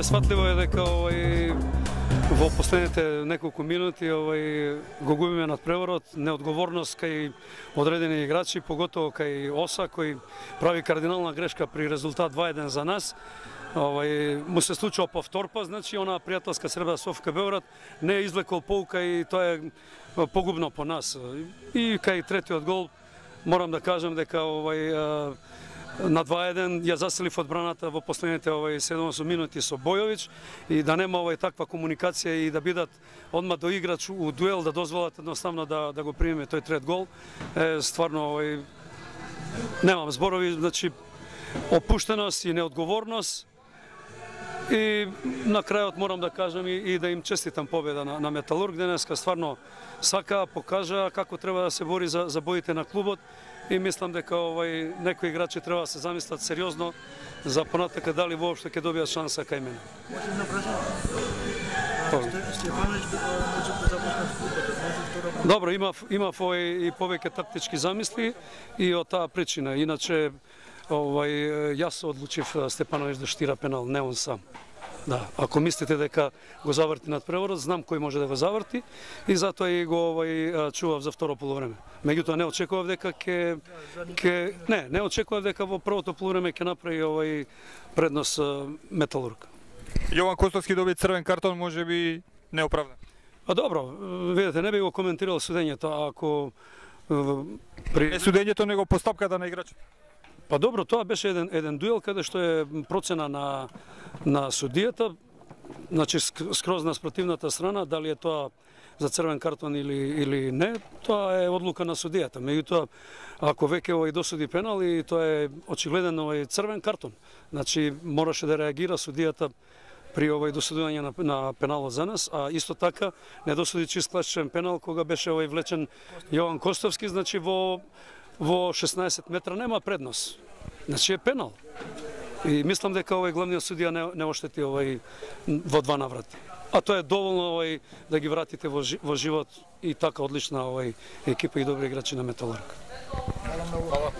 Бесфатливо е дека во последните неколку минути го губиме надпреварот, неодговорност кај одредени играчи, поготово кај Оса кој прави кардинална грешка при резултат 2-1 за нас. Му се случува повторпа, значи она пријателска средба со ФК Београд не е извлекол поука и тоа е погубно по нас. И кај третиот гол морам да кажам дека на 2-1 ја заселив одбраната во последните 7 минути со Бојовиќ и да нема таква комуникација и да бидат одма до играч у дуел, да дозволат едноставно да го примеме тој трет гол. Стварно немам зборови, значи опуштеност и неодговорност. И на крајот морам да кажам и да им честитам победа на Металург денеска. Стварно сака, покажа како треба да се бори за боите на клубот и мислам дека некои играчи треба да се замислат сериозно за понатака дали воопшто ќе добијат шанса кај мене. Можем да прашам? Стефановиќ може да започне клубот. Добро, имав и повеќе тактички замисли и од таа причина. Иначе јас одлучив Степановиќ да штира пенал, не он сам. Да, ако мислите дека го заврти надпреварот, знам кој може да го заврти и затоа и го чував за второ полувреме. Меѓутоа не очекував дека не очекував дека во првото полувреме ќе направи предност Металург. Јован Костовски доби црвен картон, можеби неоправдан. Добро, видете, не би го коментирал судењето, ако Не судењето, него постапката на играчот. Па добро, тоа беше еден дуел каде што е процена на судијата, значи скроз на спротивната страна, дали е тоа за црвен картон или не, тоа е одлука на судијата. Меѓутоа, ако веќе досуди пенал и тоа е очигледен црвен картон, значи мораше да реагира судијата при досудување на пеналот за нас, а исто така не досуди чист класичен пенал кога беше влечен Јован Костовски, значи во 16 метра нема предност. Значи е пенал. И мислам дека главниот судија не оштети во два наврати. А тоа е доволно да ги вратите во живот и така одлична екипа и добри играчи на Металург. Хвала.